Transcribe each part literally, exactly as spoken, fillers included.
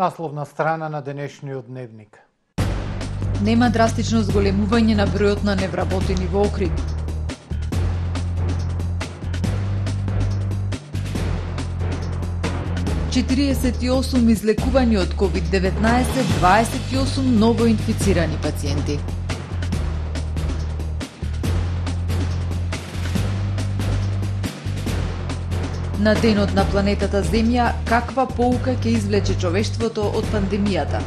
Насловна страна на денешниот дневник. Нема драстично зголемување на бројот на невработени во Охрид. четириесет и осум излекувани од ковид деветнаесет, дваесет и осум новоинфицирани пациенти. На денот на планетата Земја, каква поука ќе извлече човештвото од пандемијата?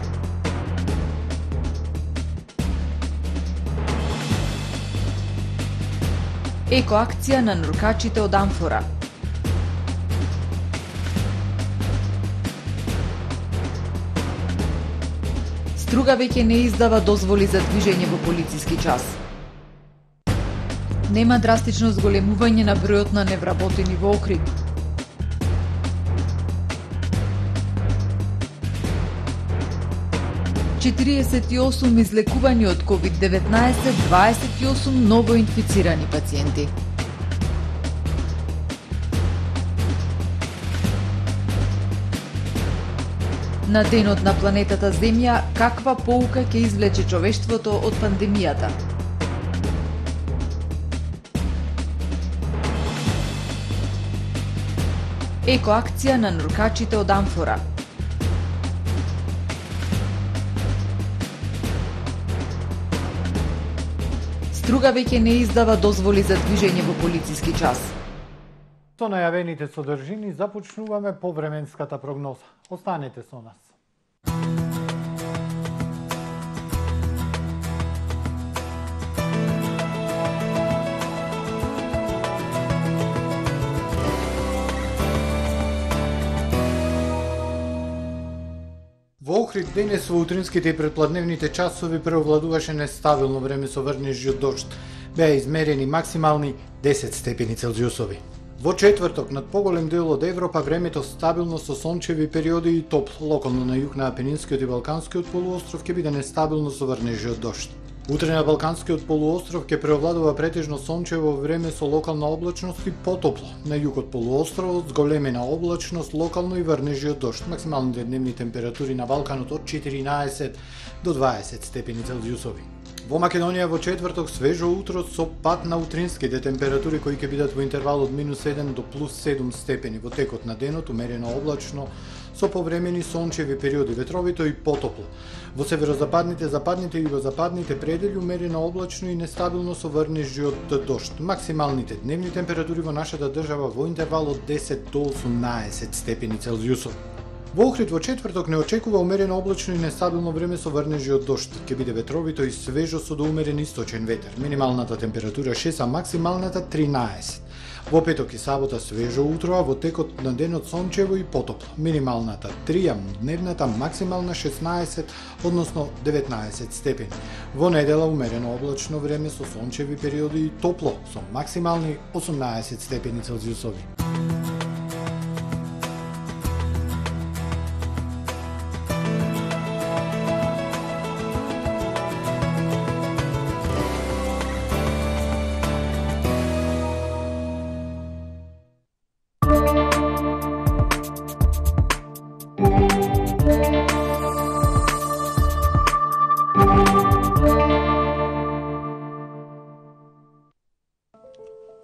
Екоакција на нуркачите од амфора. Струга веќе не издава дозволи за движење во полициски час. Нема драстично зголемување на бројот на невработени во Охрид. четириесет и осум излекувани од ковид деветнаесет, дваесет и осум новоинфицирани пациенти. На денот на планетата Земја, каква поука ќе извлече човештвото од пандемијата? Екоакција на нуркачите од амфора. Струга веќе не издава дозволи за движење во полициски час. Со најавените содржини започнуваме повременската прогноза. Останете со нас. Во Охрид денес во утринските и предпладневните часови преовладуваше нестабилно време со врнежи од дожд. Беа измерени максимални десет степени Целзиусови. Во четврток над поголем дел од Европа времето стабилно со сончеви периоди и топло. Локално на југ на Апенинскиот и Балканскиот полуостров ќе биде нестабилно со врнежи од дожд. Утре на Балканскиот полуостров ќе преовладува претежно сончево време со локална облачност и потопло. На југот полуостровот зголемена облачност, локално и врнежи од дожд. Максималните дневни температури на Балканот од четиринаесет до дваесет степени Целзиусови. Во Македонија во четврток свежо утро со пад на утринските температури кои ќе бидат во интервал од минус седум до плюс седум степени. Во текот на денот умерено облачно со повремени сончеви периоди, ветровито и потопло. Во северозападните, западните и југозападните предели умерено облачно и нестабилно со врнежи од дожд. Максималните дневни температури во нашата држава во интервал од десет до осумнаесет степени Целзиусови. Во Охрид во четврток не очекува умерено облачно и нестабилно време со врнежи од дожд. Ќе биде ветровито и свежо со доумерен источен ветер. Минималната температура шест, а максималната тринаесет. Во петок и сабота свежо утро, а во текот на денот сончево и потопло. Минималната три, а дневната максимална шеснаесет, односно деветнаесет степени. Во недела умерено облачно време со сончеви периоди и топло, со максимални осумнаесет степени Целзиусови.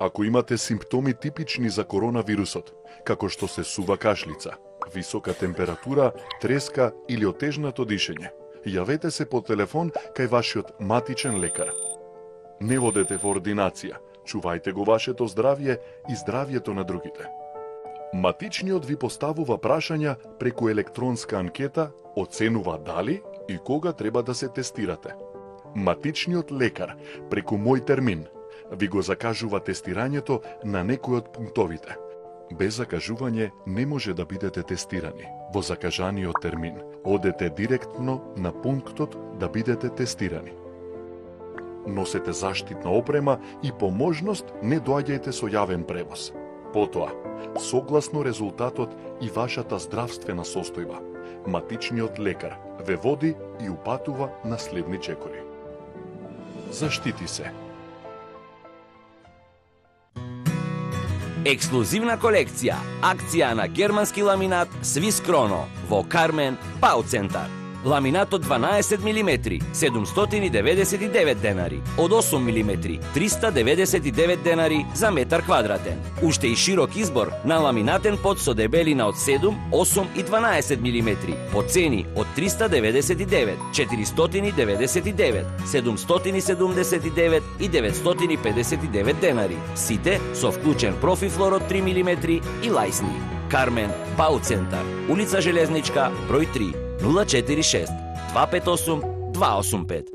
Ако имате симптоми типични за коронавирусот, како што се сува кашлица, висока температура, треска или отежнато дишење, јавете се по телефон кај вашиот матичен лекар. Не водете во ординација, чувајте го вашето здравје и здравјето на другите. Матичниот ви поставува прашања преку електронска анкета, оценува дали и кога треба да се тестирате. Матичниот лекар преку Мој термин ви го закажува тестирањето на некој од пунктовите. Без закажување не може да бидете тестирани. Во закажаниот термин одете директно на пунктот да бидете тестирани. Носете заштитна опрема и по можност не доаѓајте со јавен превоз. Потоа, согласно резултатот и вашата здравствена состојба, матичниот лекар ве води и упатува на следни чекори. Заштити се. Ексклузивна колекција, акција на германски ламинат Swiss Chrono во Кармен Пау Центар. Ламинатот дванаесет милиметри, седумстотини деветдесет и девет денари, од осум милиметри, триста деветдесет и девет денари за метар квадратен. Уште и широк избор на ламинатен под со дебелина од седум, осум и дванаесет милиметри, по цени од триста деветдесет и девет, четиристотини деветдесет и девет, седумстотини седумдесет и девет и деветстотини педесет и девет денари. Сите со вклучен профифлор од три милиметри и лајсни. Кармен Пау Центар, улица Железничка, број три, нула четири шест два пет осум два осум пет.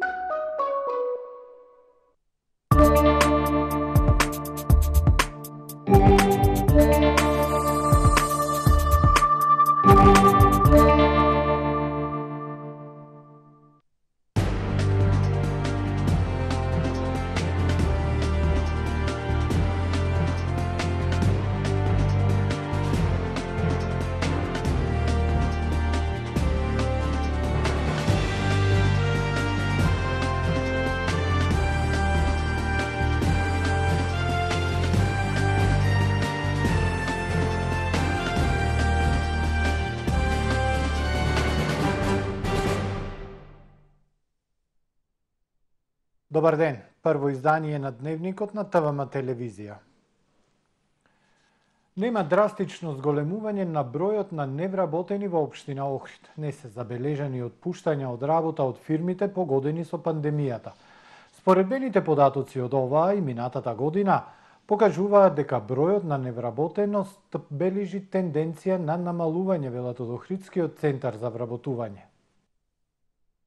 Добар ден, прво издание на Дневникот на ТВМ телевизија. Нема драстично зголемување на бројот на невработени во општина Охрид. Не се забележани отпуштања од работа од фирмите погодени со пандемијата. Споредбените податоци од оваа и минатата година покажуваат дека бројот на невработеност бележи тенденција на намалување, велат од Охридскиот центар за вработување.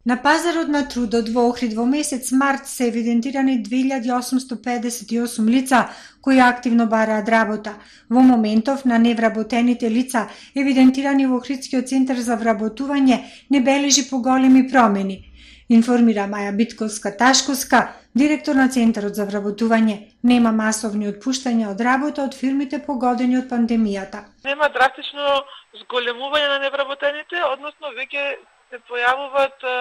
На пазарот на трудот во Охрид во месец март се евидентирани две илјади осумсто педесет и осум лица кои активно бараат работа. Во моментов на невработените лица евидентирани во Охридскиот центар за вработување не бележи поголеми промени, информира Маја Битковска-Ташковска, директор на Центарот за вработување. Нема масовни отпуштања од работа од фирмите погодени од пандемијата. Нема драстично зголемување на невработените, односно веќе се појавуваат а,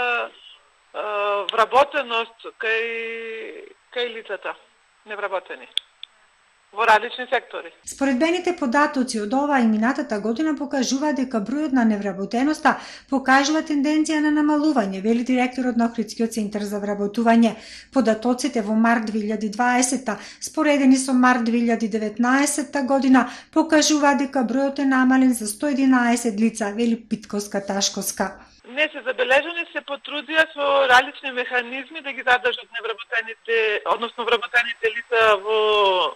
а, вработеност кај, кај лицата невработени во различни сектори. Споредбените податоци од оваа и минатата година покажуваат дека бројот на невработеноста покажува тенденција на намалување, вели директорот на Охридскиот центар за вработување. Податоците во март две илјади дваесета споредени со март две илјади деветнаесета година покажуваат дека бројот е намален за сто единаесет лица, вели Питковска-Ташковска. Не се забележани, се потрудија со различни механизми да ги задржат невработените, односно вработените лица во,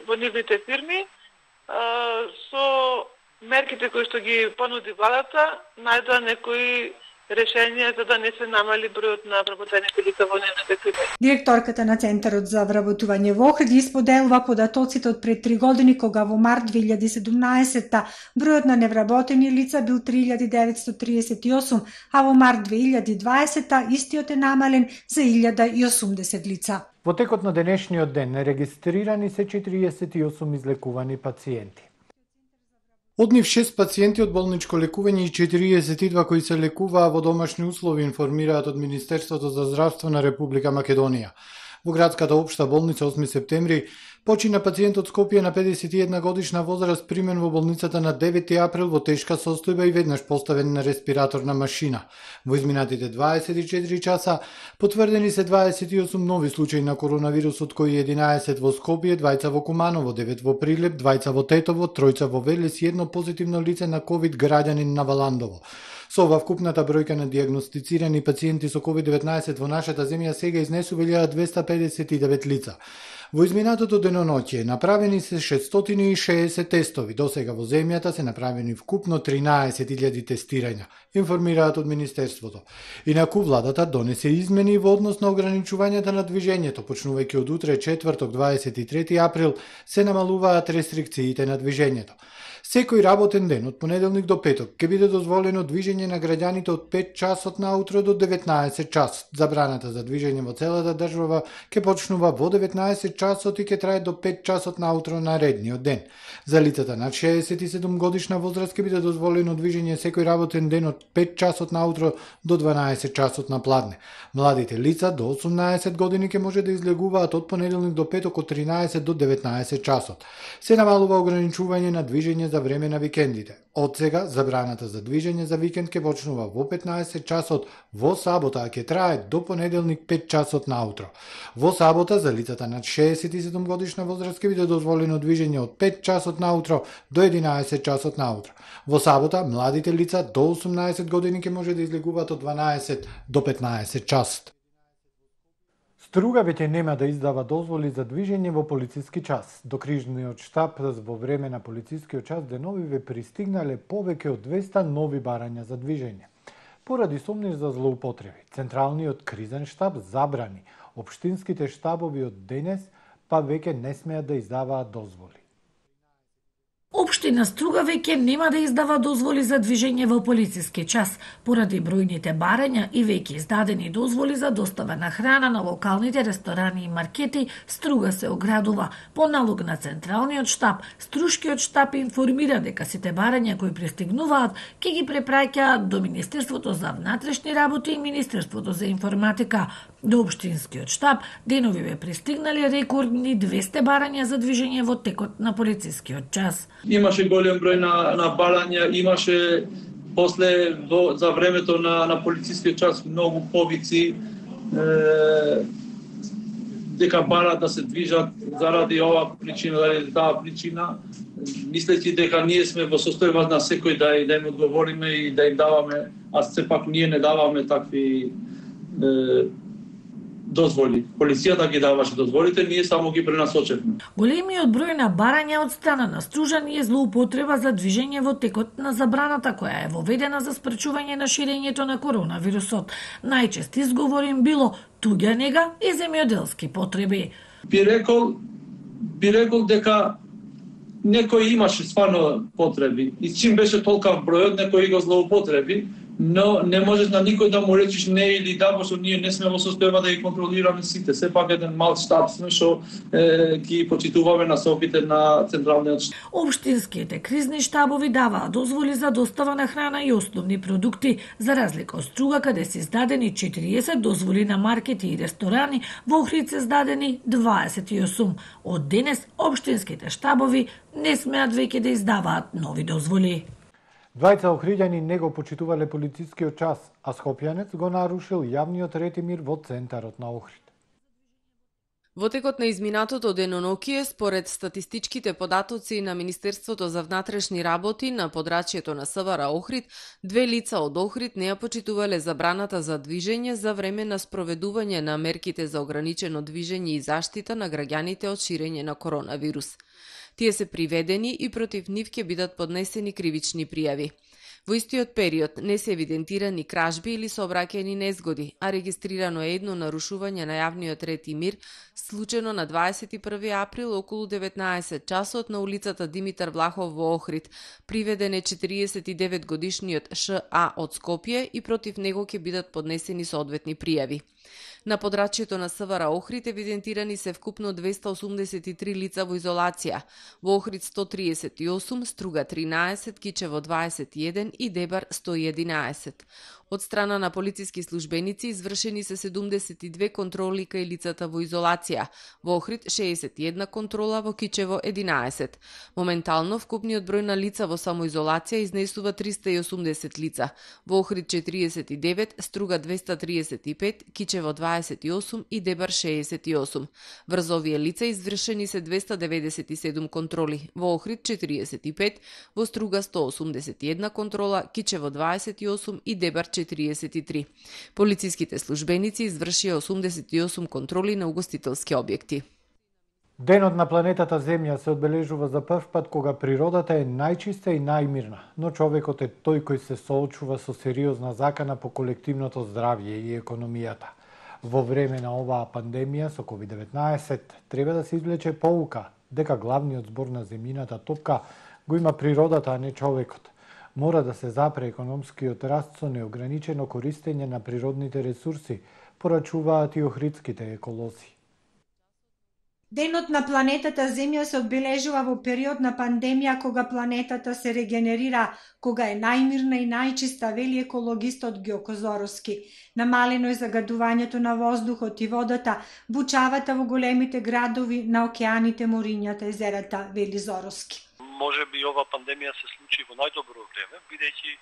во нивните фирми. Со мерките кои што ги понуди владата, најдоа некои решенија за да не се намали бројот на вработените лица во нивните фирми. Директорката на Центарот за вработување во Охрид исподелува податоците од пред три години, кога во март две илјади седумнаесета бројот на невработени лица бил три илјади деветсто триесет и осум, а во март две илјади дваесета истиот е намален за илјада и осумдесет лица. Во текот на денешниот ден регистрирани се четириесет и осум излекувани пациенти. Од нив шест пациенти од болничко лекување и четириесет и два кои се лекуваа во домашни услови, информираат од Министерството за здравство на Република Македонија. Во градската општа болница осми септември почина пациент од Скопје на педесет и една годишна возраст, примен во болницата на девети април во тешка состојба и веднаш поставен на респираторна машина. Во изминатите дваесет и четири часа потврдени се дваесет и осум нови случаи на коронавирус, од кои единаесет во Скопје, двајца во Куманово, девет во Прилеп, двајца во Тетово, тројца во Велес и едно позитивно лице на ковид граѓанин на Валандово. Со ова вкупната бројка на дијагностицирани пациенти со ковид деветнаесет во нашата земја сега изнесува илјада двесте педесет и девет лица. Во изминатото деноноќе направени се шестстотини и шеесет тестови. До сега во земјата се направени вкупно тринаесет илјади тестирања, информираат од Министерството. Инаку владата донесе измени во однос на ограничувањата на движењето. Почнувајќи од утре, четврток, дваесет и трети април, се намалуваат рестрикциите на движењето. Секој работен ден од понеделник до петок ќе биде дозволено движење на граѓаните од пет часот наутро до деветнаесет часот. Забраната за движење во целата држава ќе почнува во деветнаесет часот и ќе трае до пет часот наутро наредниот ден. За лицата над шеесет и седум годишна возраст ќе биде дозволено движење секој работен ден од пет часот наутро до дванаесет часот на пладне. Младите лица до осумнаесет години ќе може да излегуваат од понеделник до петок од тринаесет до деветнаесет часот. Се намалува ограничување на движење за време на викендите. Од сега забраната за движење за викенд ќе почнува во петнаесет часот во сабота, а ќе трае до понеделник пет часот наутро. Во сабота за лицата над шеесет и седум годишна возраст ќе биде дозволено движење од пет часот наутро до единаесет часот наутро. Во сабота младите лица до осумнаесет години ќе може да излегуваат од дванаесет до петнаесет часот. Струга веќе нема да издава дозволи за движење во полициски час. До крижниот штаб во време на полицискиот час деновиве пристигнале повеќе од двеста нови барања за движење. Поради сомниш за злоупотреби, Централниот кризен штаб забрани општинските штабови од денес па веќе не смеат да издаваат дозволи. Општина Струга веќе нема да издава дозволи за движење во полициски час, поради бројните барања и веќе издадени дозволи за достава на храна на локалните ресторани и маркети. Струга се оградува. По налог на Централниот штаб, Струшкиот штаб информира дека сите барања кои пристигнуваат ќе ги препраќаат до Министерството за внатрешни работи и Министерството за информатика. До општинскиот штаб деновиве пристигнале рекордни двесте барања за движење во текот на полицискиот час. Имаше голем број на, на барања, имаше после во, за времето на, на полицискиот час многу повици е, дека барат да се движат заради оваа причина, заради таа причина, мислејќи дека ние сме во состојба на секој да, да им одговориме и да им даваме, а сепак ние не даваме такви е, дозволи. Полицијата ги даваше дозволите, ние само ги пренасочевме. Големиот број на барања од страна на Стружани е злоупотреба за движење во текот на забраната која е воведена за спречување на ширењето на коронавирусот. Најчест изговор им било туѓа нега и земјоделски потреби. Би рекол, би рекол дека некој имаше стварно потреби и чим беше толкав бројот, некој го злоупотреби, но не можеш на никој да му речиш не или да, пошто ние не сме во состојба да ги контролираме сите. Сепак еден мал штаб сме што е, ги почитуваме насоките на Централниот штаб. Општинските кризни штабови даваат дозволи за достава на храна и основни продукти, за разлика од Струга каде се издадени четириесет дозволи на маркети и ресторани, во Охрид се издадени дваесет и осум. Од денес општинските штабови не смеат веќе да издаваат нови дозволи. Двајца охриѓани не го почитувале полицискиот час, а скопјанец го нарушил јавниот ред и мир во центарот на Охрид. Во текот на изминатото денонокие, според статистичките податоци на Министерството за внатрешни работи на подрачјето на СВР Охрид, две лица од Охрид не ја почитувале забраната за движење за време на спроведување на мерките за ограничено движење и заштита на граѓаните од ширење на коронавирус. Тие се приведени и против нив ќе бидат поднесени кривични пријави. Во истиот период не се евидентирани кражби или сообраќајни незгоди, а регистрирано е едно нарушување на јавниот ред и мир, случено на дваесет и први април околу деветнаесет часот на улицата Димитар Влахов во Охрид. Приведен е четириесет и девет годишниот Ш А од Скопје и против него ќе бидат поднесени соодветни пријави. На подрачјето на СВР Охрид евидентирани се вкупно двеста осумдесет и три лица во изолација. Во Охрид сто триесет и осум, Струга тринаесет, Кичево дваесет и еден и Дебар сто и единаесет. Од страна на полициски службеници извршени се седумдесет и две контроли кај лицата во изолација. Во Охрид шеесет и една контрола, во Кичево единаесет. Моментално вкупниот број на лица во самоизолација изнесува триста и осумдесет лица. Во Охрид четириесет и девет, Струга двеста триесет и пет, Кичево дваесет и осум и Дебар шеесет и осум. Врз овие лица извршени се двеста деветдесет и седум контроли. Во Охрид четириесет и пет, во Струга сто осумдесет и една контрола, Кичево дваесет и осум и Дебар четириесет и три. Полициските службеници извршија осумдесет и осум контроли на угостителски објекти. Денот на планетата Земја се одбележува за прв пат кога природата е најчиста и најмирна, но човекот е тој кој се соочува со сериозна закана по колективното здравје и економијата. Во време на оваа пандемија со ковид деветнаесет треба да се извлече поука дека главниот збор на земјината топка го има природата, а не човекот. Мора да се запре економскиот раст со неограничено користење на природните ресурси, порачуваат и охридските еколози. Денот на планетата Земја се одбележува во период на пандемија кога планетата се регенерира, кога е најмирна и најчиста, вели екологистот Ѓоко Зоровски. Намалено е загадувањето на воздухот и водата, бучавата во големите градови, на океаните, морињата, езерата, вели Зоровски. Може би ова пандемија се случи во најдобро време, бидејќи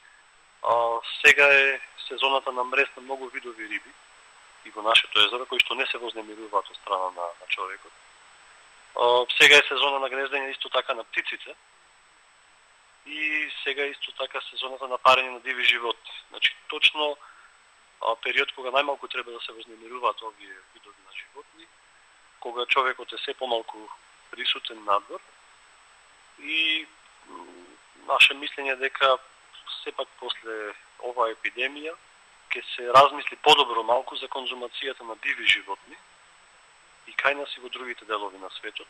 сега е сезоната на мрез на многу видови риби и во нашето езеро, кои што не се вознемируваат од страна на, на човекот. Сега е сезона на гнездење исто така на птиците и сега е исто така сезоната на парење на диви животни. Значи, точно период кога најмалку треба да се вознемируваат овие видови на животни, кога човекот е се помалку присутен надвор и наше мислење дека сепак после оваа епидемија ќе се размисли подобро малку за конзумацијата на диви животни и кај нас и во другите делови на светот.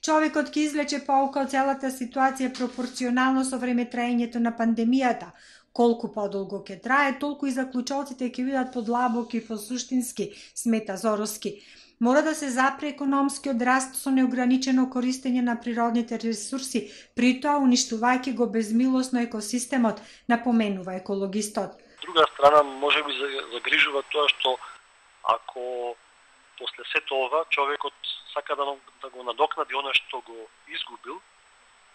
Човекот ќе извлече поука од целата ситуација пропорционално со времетраењето на пандемијата. Колку подолго ќе трае, толку и заклучоците ќе бидат подлабоки и посуштински, смета Зоровски. Мора да се запре економскиот раст со неограничено користење на природните ресурси, при тоа уништувајќи го безмилосно екосистемот, напоменува екологистот. Друга страна, може би загрижува тоа што ако после сето ова човекот сака да, да го надокнади она што го изгубил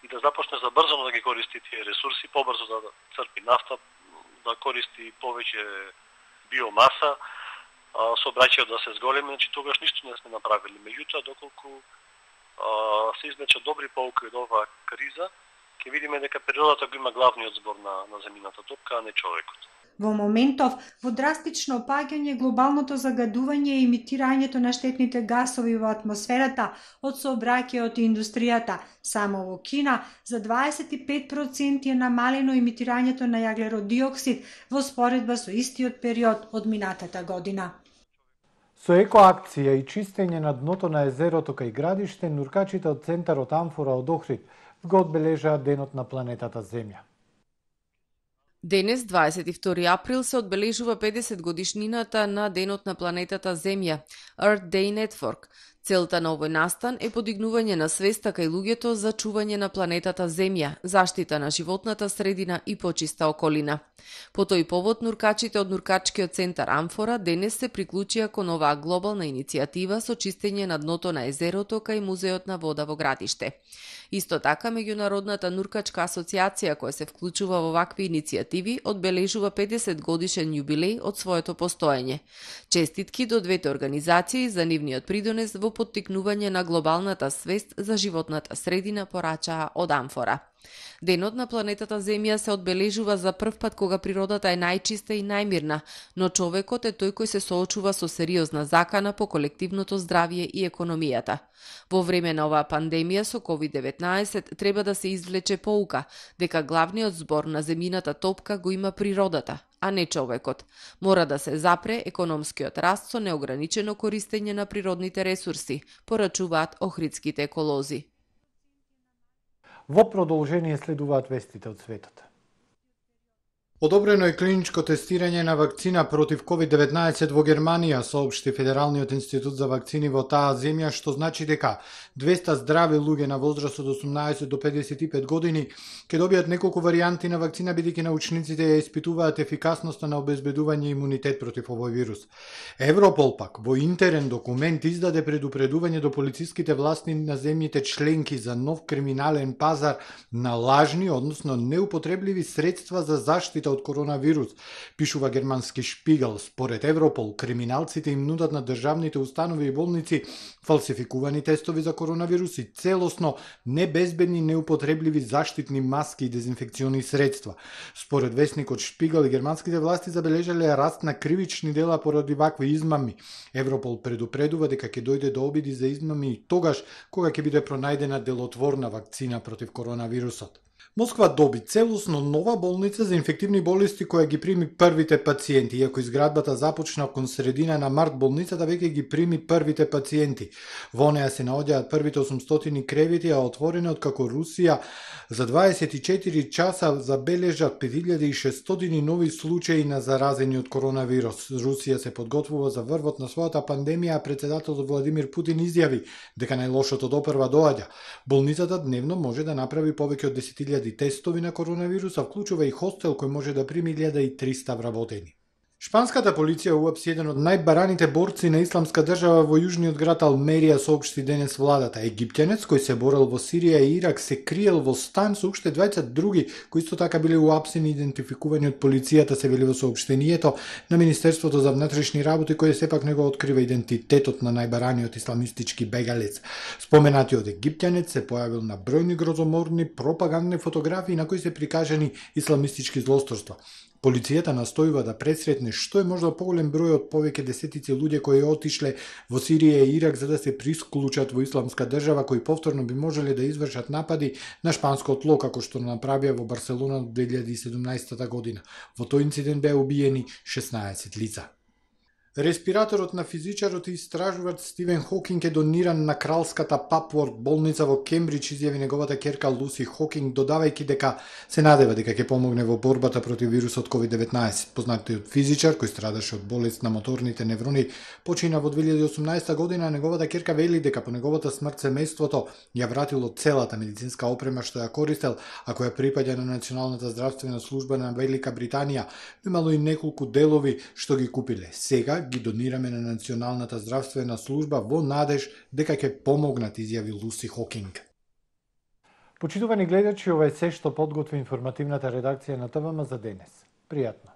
и да започне забрзано да ги користи тие ресурси, побрзо да црпи нафта, да користи повеќе биомаса, сообраќајот да се зголеми, значи тогаш ништо не сме направили. Меѓутоа, доколку а, се извлечат добри поуки од оваа криза, ќе видиме дека природата го има главниот збор на, на земјината топка, а не човекот. Во моментов, во драстично опаѓање глобалното загадување и емитирањето на штетните гасови во атмосферата од сообраќајот и индустријата. Само во Кина за дваесет и пет проценти е намалено емитирањето на јаглеродиоксид во споредба со истиот период од минатата година. Со екоакција и чистење на дното на езерото кај градиште, нуркачите од центарот Амфора од Охрид го одбележаат Денот на планетата Земја. Денес, дваесет и втори април, се одбележува педесет годишнината на Денот на планетата Земја, Earth Day Network. Целта на овој настан е подигнување на свеста кај луѓето за чување на планетата Земја, заштита на животната средина и почиста околина. По тој повод, нуркачите од нуркачкиот центар Амфора денес се приклучија кон оваа глобална иницијатива со чистење на дното на езерото кај Музеот на вода во градиште. Исто така, Меѓународната нуркачка асоциација која се вклучува во вакви иницијативи одбележува педесет годишен јубилеј од своето постоење. Честитки до двете организации за нивниот придонес во поттикнување на глобалната свест за животната средина, порачаа од Амфора. Денот на планетата Земја се одбележува за прв пат кога природата е најчиста и најмирна, но човекот е тој кој се соочува со сериозна закана по колективното здравје и економијата. Во време на оваа пандемија со ковид деветнаесет треба да се извлече поука дека главниот збор на земјината топка го има природата, а не човекот. Мора да се запре економскиот раст со неограничено користење на природните ресурси, порачуваат охридските еколози. Во продолжение следуваат вестите од светот. Одобрено е клиничко тестирање на вакцина против ковид деветнаесет во Германија, соопшти Федералниот институт за вакцини во таа земја, што значи дека двеста здрави луѓе на возраст од осумнаесет до педесет и пет години ќе добијат неколку варијанти на вакцина, бидејќи научниците ја испитуваат ефикасноста на обезбедување имунитет против овој вирус. Европол пак во интерен документ издаде предупредување до полициските власти на земјите членки за нов криминален пазар на лажни, односно неупотребливи средства за заштита од коронавирус, пишува германски Шпигел. Според Европол, криминалците им нудат на државните установи и болници фалсификувани тестови за коронавирус и целосно небезбедни неупотребливи заштитни маски и дезинфекциони средства. Според весникот Шпигел, германските власти забележале раст на кривични дела поради вакви измами. Европол предупредува дека ќе дојде до обиди за измами и тогаш кога ќе биде пронајдена делотворна вакцина против коронавирусот. Москва доби целосно нова болница за инфективни болести која ги прими првите пациенти. Иако изградбата започна кон средина на март, болницата веќе ги прими првите пациенти. Во неа се наоѓаат првите осумстотини кревети, а отворена откако Русија за дваесет и четири часа забележа пет илјади и шестстотини нови случаи на заразени од коронавирус. Русија се подготвува за врвот на својата пандемија, а председателот Владимир Путин изјави дека најлошото допрва доаѓа. Болницата дневно може да направи повеќе од десет илјади тестови на коронавируса, вклучува и хостел кој може да прими илјада и триста вработени. Шпанската полиција уапси еден од најбараните борци на исламска држава во јужниот град Алмерија, соопшти денес владата. Египтјанец кој се борел во Сирија и Ирак се криел во стан со уште дваесет други кои исто така биле уапсени и идентификувани од полицијата, се вели во соопштението на Министерството за внатрешни работи, кој сепак не го открива идентитетот на најбараниот исламистички бегалец. Споменатиот египтјанец се појавил на бројни грозоморни пропагандни фотографии на кои се прикажани исламистички злосторства. Полицијата настојува да пресретне што е можда поголем број од повеќе десетици луѓе кои отишле во Сирија и Ирак за да се присклучат во исламска држава, кои повторно би можеле да извршат напади на шпанско тло, како што направија во Барселона две илјади и седумнаесета година. Во тој инцидент беа убиени шеснаесет лица. Респираторот на физичарот и истражувач Стивен Хокинг е дониран на кралската Папворт болница во Кембридж, изјави неговата ќерка Луси Хокинг, додавајќи дека се надева дека ќе помогне во борбата против вирусот ковид деветнаесет. Познатиот физичар кој страдаше од болест на моторните неврони почина во две илјади и осумнаесета година, а неговата ќерка вели дека по неговата смрт семејството ја вратило целата медицинска опрема што ја користел, а која припаѓа на Националната здравствена служба на Велика Британија. Имало и неколку делови што ги купиле. Сега ги донираме на Националната здравствена служба во надеж дека ќе помогнат, изјави Луси Хокинг. Почитувани гледачи, ова е се што подготви информативната редакција на ТВМ за денес. Пријатно.